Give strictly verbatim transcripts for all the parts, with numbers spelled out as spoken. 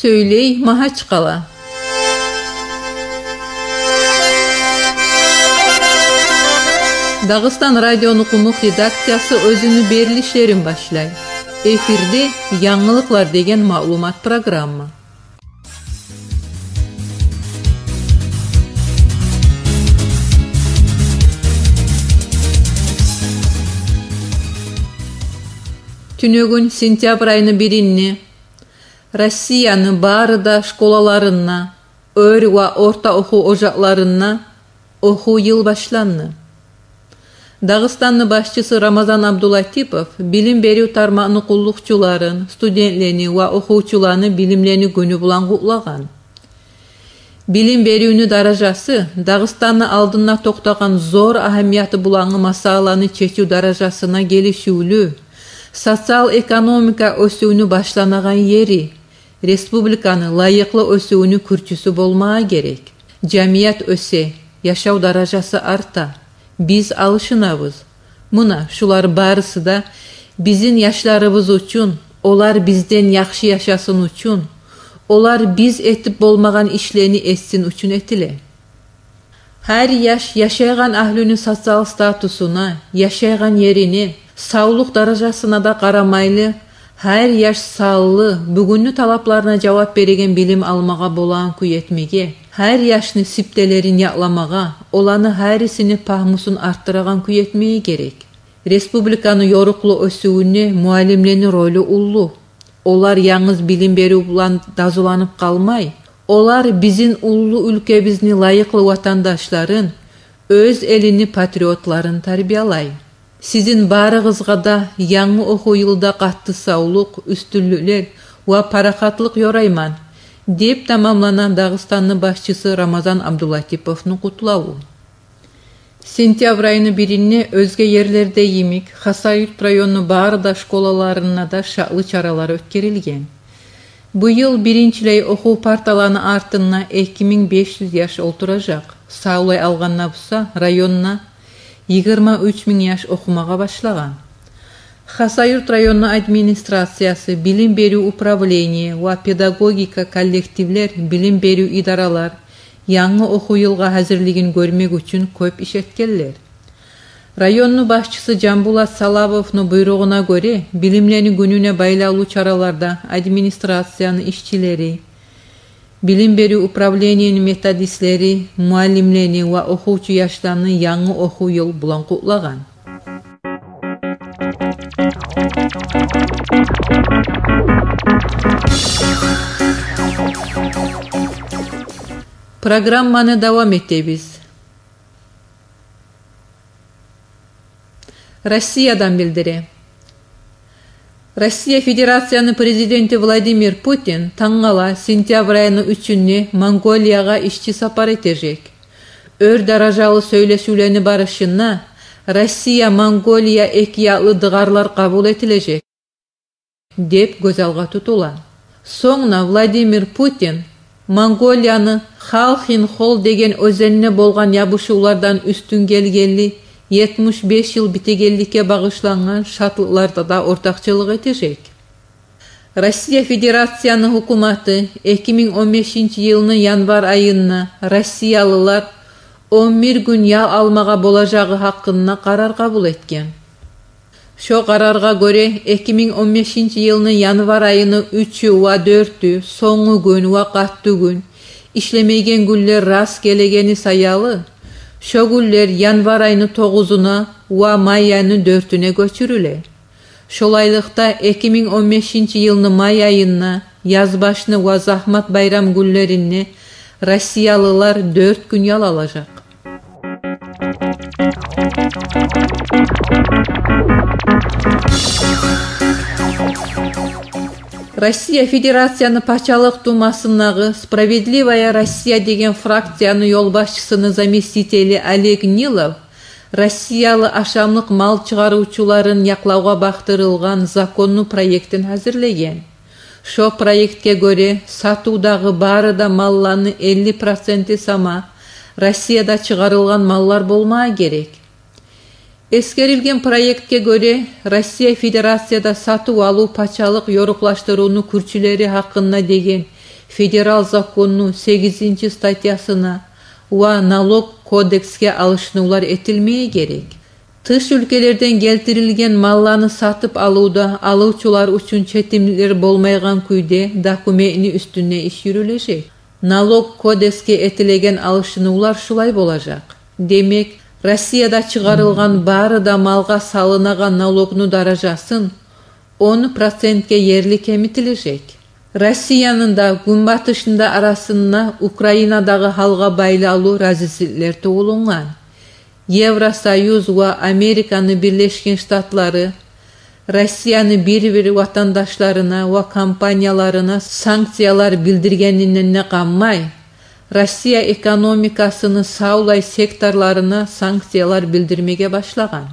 Сёйлей Магьачкъала. Дагъыстан радиону къумукъ редакциясы оьзюню берилишлерин башлай. Эфирде «Янгылыкълар» деген маълумат программа. Тюнегюн, сентябрь айны биринде, Россияны бары да школаларында, оьр ва орта охув ожакъларында охув йыл башланды. Дагъыстанны башчысы Рамазан Абдулатипов билим берив тармакъны къуллукъчуларын, студентлени ва охувчуланы билимлени гюню булан къутлагъан. Билим беривню даражасы Дагъыстанны алдында токътагъан зор агьамияты булангъы масъаланы чечив даражасына гелишивлю, социал-экономика оьсювню башланагъан ери, республиканы лайыкълы оьсювню кюрчюсю болмагъа герек. Жамият оьсе, яшав даражасы арта. Биз алышынабыз. Муна шулар барысы да бизин яшларыбыз учун, олар бизден яхшы яшасын учун, олар биз этип болмагъан ишлени этсин учун этиле. Гьар яш яшайгъан агьлюню социал статусуна, яшайгъан ерине, савлукъ даражасына да къарамайлы, гьар яш санлы, бугюнню талапларына жавап береген билим алмагъа болагъан кюй этмеге, гьар яшны сиптелерин якъламагъа, оланы гьарисини пагьмусун артдырагъан кюй этмеге герек. Республиканы ёрукълу оьсювюнде муаллимлени ролю уллу. Олар янгыз билим берив булан дазуланып къалмай, олар бизин уллу уьлкебизни лайыкълы ватандашларын, оьз элини патриотларын тарбиялай. Сизин барыгъызгъа да янгы охув йылда къатты савлукъ, уьстюнлюклер ва парахатлыкъ ёрайман, — деп тамамлана Дагъыстанны башчысы Рамазан Абдулатиповну къутлаву. Сентябрь айны биринде оьзге ерлерде йимик, Хасавюрт районну бары да школаларында да шатлы чаралар оьтгерилген. Бу йыл биринчилей охув парталаны артында эки минг беш юз яш олтуражакъ. Савлай алгъанда буса, районда йигирма уьч минг яш охумагъа башлагъан. Хасавюрт районну администрациясы, билим берив управление ва педагогика коллективлер, билим берив идаралар янгы охув йылгъа гьазирлигин гёрмек учун кёп иш этгенлер. Районну башчысы Жамбулат Салавовну буйругъуна гёре, билимлени гюнюне байлавлу чараларда администрацияны ишчилери, билим берив управлениени методистлери муаллимлени ва охувчу яшланы янгы охув йыл булан къутлагъан. Программаны давам этебиз. Россиядан билдире. Россия Федерацияны Президенти Владимир Путин тангала, сентябрь айны уьчюнде, Монголиягъа ишчи сапар этежек. Оьр даражалы сёйлешивлени барышында Россия-Монголия экиякълы дыгъарлар къабул этилежек деп гёз алгъа тутула. Сонг да Владимир Путин Монголияны Халхин-Хол деген оьзенде болгъан ябушувлардан уьстюн гелгенли етмиш беш йыл битегенликге багъышлангъан шатлыкъларда да ортакъчылыкъ этежек. Россия Федерацияны гьукуматы эки минг он бешинчи йылны январь айында россиялылар он бир гюн ял алмагъа болажагъы гьакъында къарар къабул этген. Шо къараргъа гёре, эки минг он бешинчи йылны январь айыны уьчю ва дёртю, сонгу гюн ва къатты гюн, ишлемейген гюнлер раст гелегени саялы, шо гюнлер январь айыны тогъузуна ва май айыны дёртюне гёчюрюле. Шолайлыкъда, эки минг он бешинчи йылны май айында, язбашны ва загьмат байрам гюнлеринде россиялылар дёрт гюн ял алажакъ. Россия Федерацияны Пачалыкъ Думасындагъы «Справедливая Россия» деген фракцияны ёлбашчысыны заместители Олег Нилов россиялы ашамлыкъ мал чыгъарывчуларын якълавгъа бакъдырылгъан законну проектин гьазирлеген. Шо проектге гёре, сатывдагъы бары да малланы элли проценти сама Россияда чыгъарылгъан маллар болмагъа герек. Эсгерилген проектге гёре, Россия Федерацияда сатыв-алыв пачалыкъ ёрукълашдырывну кюрчюлери гьакъында деген федерал законну сегизинчи статьясына ва налог кодексге алышынывлар этилмеге герек. Тыш уьлкелерден гелтирилген малланы сатып алывда алывчулар учун четимликлер болмайгъан кюйде документни уьстюнде иш юрюлежек. Налог кодексге этилеген алышынывлар шулай болажакъ. Демек, Россияда чыгъарылгъан бары да малгъа салынагъан налогну даражасын он процентге ерли кемитилежек. Россияны да, Гюнбатышны да арасында Украинадагъы гьалгъа байлавлу разисизликлер тувулунгъан. Евросоюз ва Американы Бирлешген Штатлары Россияны бир-бир ватандашларына ва компанияларына санкциялар билдиргенинден де къанмай, Россия экономикасыны савлай секторларына санкциялар билдирмеге башлагъан.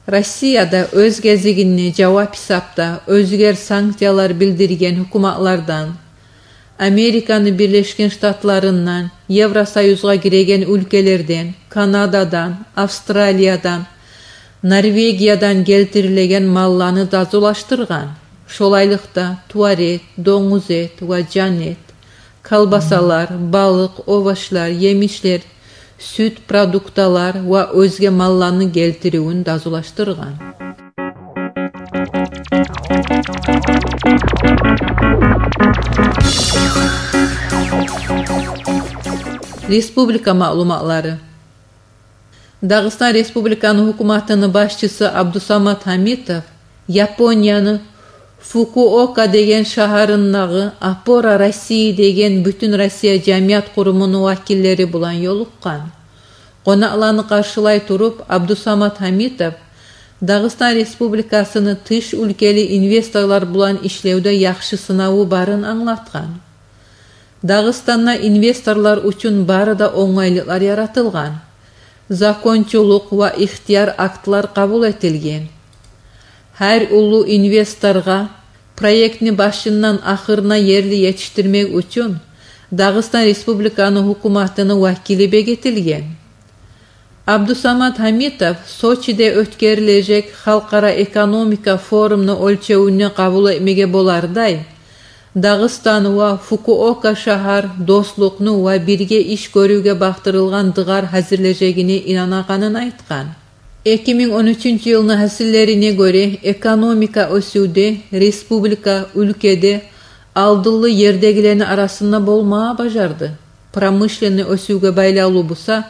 Россия да оьз гезигинде жавап гьисапда оьзгер санкциялар билдирген гьукуматлардан, Американы Бирлешген Штатларындан, Евросоюзгъа гиреген уьлкелерден, Канададан, Австралиядан, Норвегиядан гелтирилеген малланы дазулашдыргъан. Шолайлыкъда тувар эт, донгуз эт ва жан эт, колбасалар, балыкъ, овошлар, емишлер, сют продукталар ва оьзге малланы гелтиривюн дазулашдыргъан. Республика маълуматлары. Дагъыстан Республиканы гьукуматыны башчысы Абдусамат Гьамитов Японияны Фукуока деген шагьарындагъы «Опора России» деген бютюн Россия жамият къурумуну вакиллери булан ёлукъгъан. Къонакъланы къаршылай туруп, Абдусамат Гьамитов Дагъыстан Республикасыны тыш уьлкели инвесторлар булан ишлевде яхшы сынаву барын англатгъан. Дагъыстанда инвесторлар учун бары да онгайлыкълар яратылгъан. Закончулукъ ва ихтияр актлар къабул этилген. Гьар уллу инвесторгъа проектни башындан ахырына ерли етишдирмек учун Дагъыстан Республиканы гьукуматыны вакили бегетилген. Абдусамат Гьамитов Сочиде оьтгерилежек халкъара экономика форумну оьлчевюнде къабул этмеге болардай, Дагъыстан ва Фукуока шагьар дослукъну ва бирге иш гёрювге бакъдырылгъан дыгъар гьазирлежегине инанагъанын айтгъан. Эки минг он уьчюнчю йылны гьасиллерине гёре, экономика оьсювде республика уьлкеде алдынлы ердегилени арасында болма бажарды. Промышленный оьсювге байлавлу буса,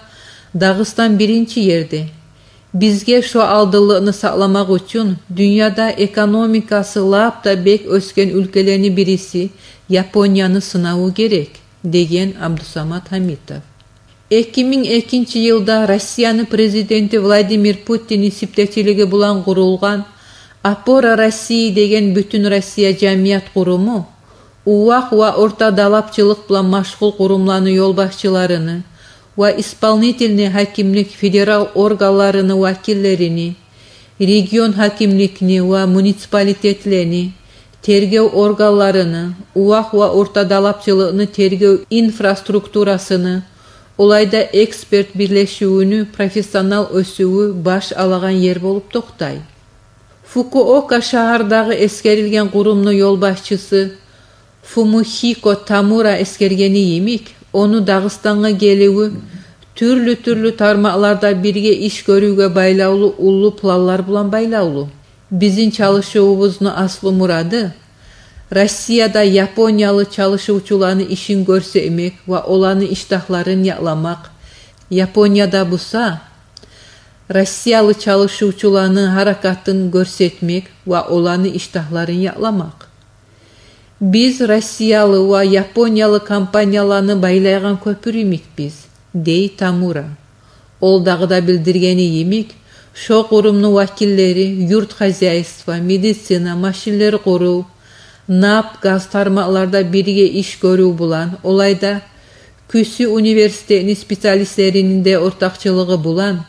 Дагъыстан биринчи ерде. Бизге шо алдынлыкъны сакъламакъ учун дюньяда экономикасы лап да бек оьсген уьлкелени бириси Японияны сынаву герек, — деген Абдусамат Гьамитов. Эки минг экинчи йылда Россияны президенти Владимир Путинни сиптечилиги булан къурулгъан «Опора России» деген бютюн Россия жамият къуруму увакъ ва орта далапчылыкъ булан машгъул къурумланы ёлбашчыларыны ва исполнительный гьакимлик федерал органларыны вакиллерини, регион гьакимликни ва муниципалитетлени тергев органларыны, увакъ ва орта далапчылыкъны тергев инфраструктурасыны, олайда эксперт бирлешивюню профессионал оьсювю баш алагъан ер болуп токътай. Фукуока шагьардагъы эсгерилген къурумну ёлбашчысы Фумихико Тамура эсгергени йимик, ону Дагъыстангъа геливи тюрлю-тюрлю тармакъларда бирге иш гёрювге байлавлу уллу планлар булан байлавлу. Бизин чалышывубузну аслу мурады — Россияда япониялы чалышывчуланы ишин гёрсетмек ва оланы иштагьларын якъламакъ. Японияда буса, россиялы чалышывчуланы гьаракатын гёрсетмек ва оланы иштагьларын якъламакъ. Биз россиялы ва япониялы компанияланы байлайгъан кёпюр йимикбиз, — дей Тамура. Ол дагъы да билдиргени йимик, шо къурумну вакиллери юрт хозяйство, медицина, машинлер къурув, нафт, газ тармакъларда бирге иш гёрюв булан, олайда Кюсю университетни специалистлерини де ортакъчылыгъы булан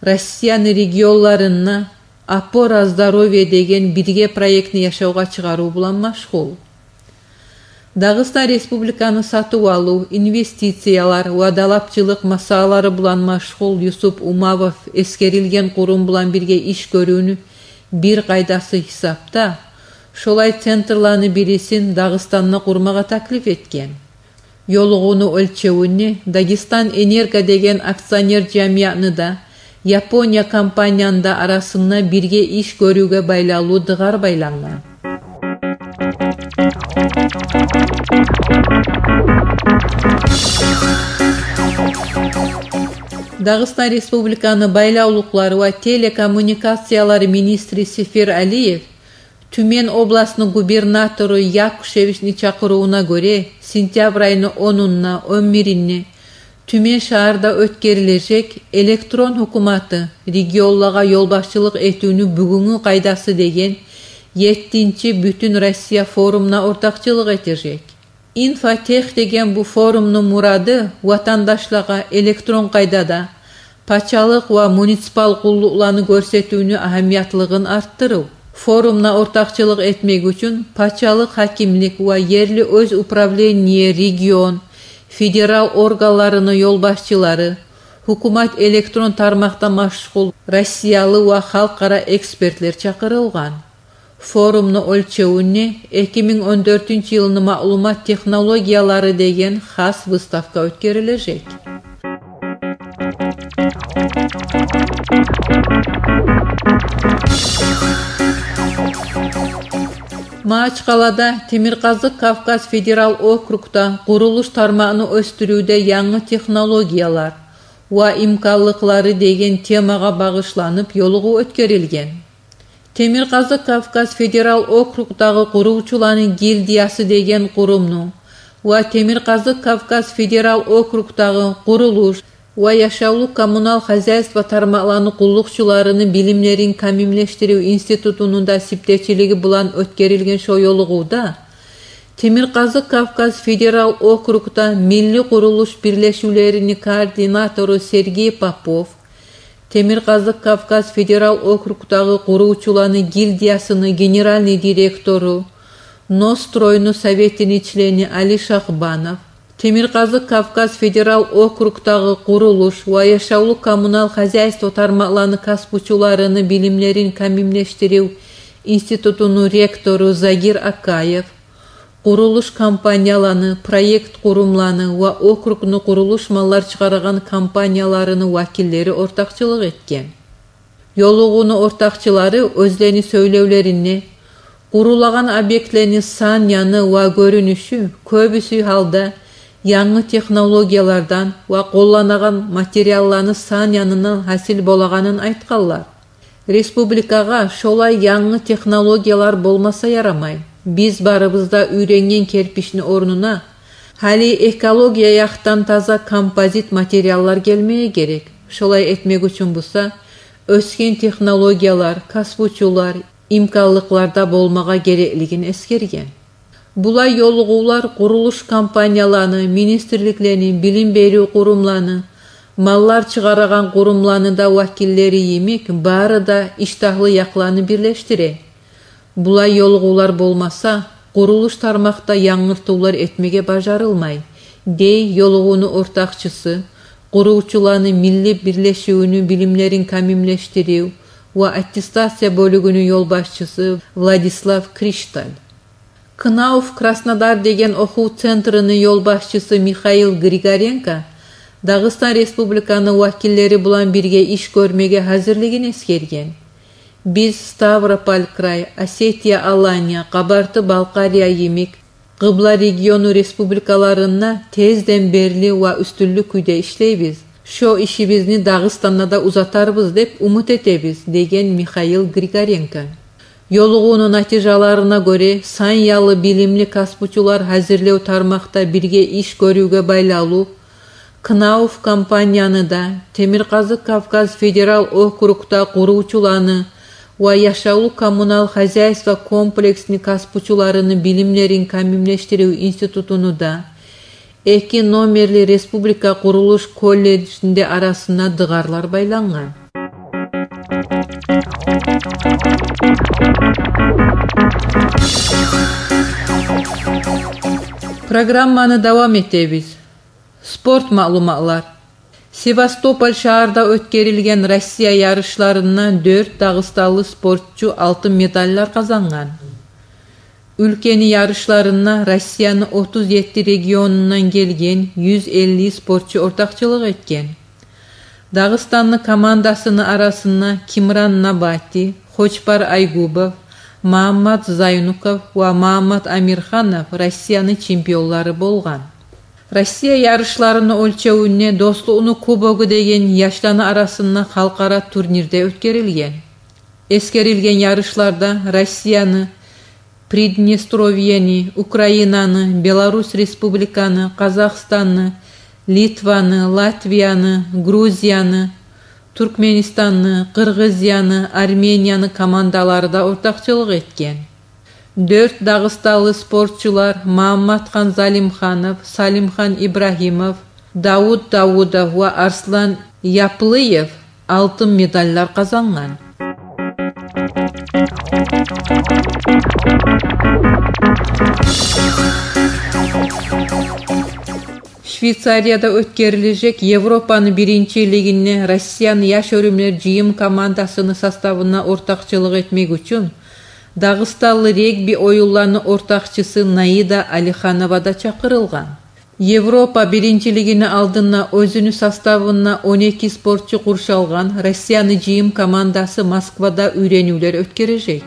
Россияны регионларында «Опора здоровья» деген бирге проектни яшавгъа чыгъарыв булан машгъул. Дагъыстан Республиканы сатыв-алыв, инвестициялар ва далапчылыкъ масъалалары булан машгъул Юсуп Умавов эсгерилген къурум булан бирге иш гёрювню бир къайдасы гьисапда, шолай центрланы бирисин Дагъыстанда къурмагъа таклиф этген. Ёлугъувну оьлчевюнде Дагестан Энерго деген акционер жамиятны да, Япония компанияны да арасында бирге иш гёрювге байлавлу дыгъар байлангъан. Дагъыстан Республиканы байлавлукълар ва телекоммуникациялар министри Сефер Алиев Тюмень областны губернатору Якушевични чакъырывуна гёре, сентябрь айны онунда, он биринде Тюмень шагьарда оьтгерилежек «Электрон гьукуматы: регионлагъа ёлбашчылыкъ этивню бугюнгю къайдасы» деген еттинчи Бютюн Россия форумуна ортакъчылыкъ этежек. «Инфотех» деген бу форумну мурады ватандашлагъа электрон къайдада пачалыкъ ва муниципал къуллукъланы гёрсетивню агьамиятлыгъын артдырыв. Форумда ортакъчылыкъ этмек учун пачалыкъ гьакимлик ва ерли оьз управление, регион, федерал органларыны ёлбашчылары, гьукумат электрон тармакъда машгъул россиялы ва халкъара экспертлер чакъырылгъан. Форумну оьлчевюнде эки минг он дёртюнчю йылны маълумат технологиялары деген хас выставка оьтгерилежек. Магьачкъалада Темиркъазыкъ Кавказ федерал округда къурулуш тармагъын оьсдюрювде янгы технологиялар ва имканлыкълары деген темагъа багъышланып ёлугъув оьтгерилген. Темиркъазыкъ Кавказ федерал округдагъы къурувчуланы гильдиясы деген къурумну ва Темиркъазыкъ Кавказ федерал округдагъы къурулуш ва яшавлу-коммунал хозяйство тармакъланы къуллукъчуларыны билимлерин камимлешдирив институтуну да сиптечилиги булан оьтгерилген шо ёлугъувда Темиркъазыкъ Кавказ федерал округда милли къурулуш бирлешивлерини координатору Сергей Попов, Темиркъазыкъ Кавказ федерал округдагъы къурувчуланы гильдиясыны генеральный директору, «Ностройну» советини члени Али Шахбанов, Темиркъазыкъ Кавказ федерал округдагъы къурулуш ва яшавлу-коммунал хозяйство тармакъланы касбучуларыны билимлерин камимлешдирив институтуну ректору Загир Акаев, къурулуш компанияланы, проект къурумланы ва округну къурулуш маллар чыгъарагъан компанияларыны вакиллери ортакъчылыкъ этген. Ёлугъувну ортакъчылары оьзлени сёйлевлеринде къурулагъан объектлени сан-яны ва гёрюнюшю кёбюсю гьалда янгы технологиялардан ва къолланагъан материалланы сан-янындан гьасил болагъанын айтгъанлар. Республикагъа шолай янгы технологиялар болмаса ярамай. Биз барыбыз да уьйренген керпични орнуна гьали экология якъдан таза композит материаллар гелмеге герек. Шолай этмек учун буса оьсген технологиялар, касбучулар, имканлыкълар да болмагъа гереклигин эсгерген. Булай ёлугъувлар къурулуш компанияланы, министрликлени, билим берив къурумланы, маллар чыгъарагъан къурумланы да вакиллери йимик, бары да иштагьлы якъланы бирлешдире. Булай ёлугъувлар болмаса, къурулуш тармакъда янгыртывлар этмеге бажарылмай, дей ёлугъувну ортакъчысы, къурувчуланы милли бирлешивюню билимлерин камимлешдирив ва аттестация бёлюгюню ёлбашчысы Владислав Кришталь. «КНАУФ Краснодар» деген охув центрини ёлбашчысы Михаил Григоренко Дагъыстан Республиканы вакиллери булан бирге иш гёрмеге гьазирлигин эсгерген. Биз Ставрополь край, Осетия-Алания, Къабарты-Балкъария йимик къыбла региону республикаларында тезден берли ва уьстюнлюк кюйде ишлейбиз. Шо ишибизни Дагъыстанда да узатарбыз деп умут этебиз, деген Михаил Григоренко. Ёлугъувну натижаларына гёре, сан-ялы билимли касбучулар гьазирлев тармакъда бирге иш гёрювге байлавлу «КНАУФ» компанияны да, Темиркъазыкъ Кавказ федерал округда къурувчуланы ва яшавлу-коммунал хозяйство комплексни касбучуларыны билимлерин камимлешдирив институтуну да, эки номерли республика къурулуш колледжни де арасында дыгъарлар байлангъан. Программаны давам этебиз. Спорт маълуматлар. Севастополь шагьарда оьтгерилген Россия ярышларында дёрт дагъыстанлы спортчу алтын медаллар къазангъан. Уьлкени ярышларында Россияны отуз етти регионундан гелген юз элли спортчу ортакъчылыкъ этген. Дагъыстанны командасыны арасында Кимран Набати, Хочбар Айгубов, Магьаммат Зайнуков ва Магьаммат Амирханов Россияны чемпионлары болгъан. Россия ярышларыны оьлчевюнде «Достлукъну кубогу» деген яшланы арасында халкъара турнир де оьтгерилген. Эсгерилген ярышларда Россияны, Приднестровьени, Украинаны, Беларусь Республиканы, Къазахстанны, Литваны, Латвияны, Грузияны, Туркменистанны, Къыргъызияны, Арменияны командалары да ортакъчылыкъ этген. Дёрт дагъыстанлы спортчулар Магьамматхан Залимханов, Салимхан Ибрагьимов, Давуд Давудов ва Арслан Яплыев алтын медаллар къазангъан. Швейцарияда оьтгерилежек Европаны биринчилигинде Россияны яш оьрюмлер жыйым командасыны составына ортакъчылыкъ этмек учун дагъыстанлы регби оюнланы ортакъчысы Наида Алиханова да чакъырылгъан. Европа биринчилигини алдында оьзюню составында он эки спортчу къуршалгъан Россияны жыйым командасы Москвада уьйренивлер оьтгережек.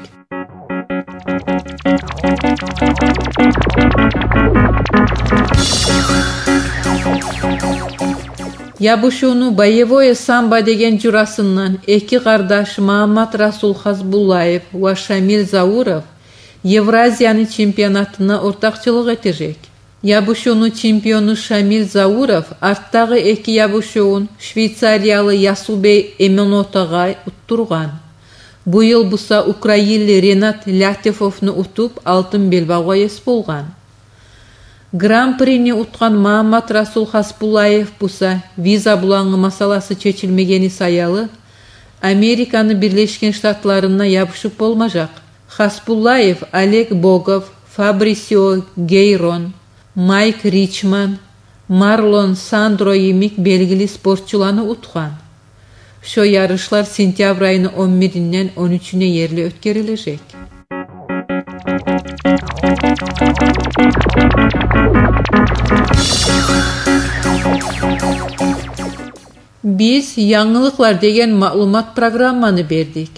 Ябушувну «Боевое самбо» деген журасындан эки къардаш Магьамматрасул Хасбуллаев ва Шамиль Зауров Евразияны чемпионатына ортакъчылыкъ этежек. Ябушувну чемпиону Шамиль Зауров артдагъы эки ябушувун швейцариялы Ясубей Эменотагъа уттургъан. Бу йыл буса украинли Ренат Лятифовну утуп, алтын белбавгъа ес болгъан. Гран-прини утгъан Магьамматрасул Хасбуллаев буса виза булангъы масъаласы чечилмегени саялы Американы Бирлешген Штатларына ябушуп болмажакъ. Хасбуллаев Олег Богов, Фабрисио Гейрон, Майк Ричман, Марлон Сандро йимик белгили спортчуланы утгъан. Шо ярышлар сентябрь айыны он биринден он уьчюне ерли оьтгерилежек. Биз янгылыкълар деген маълумат программаны бердик.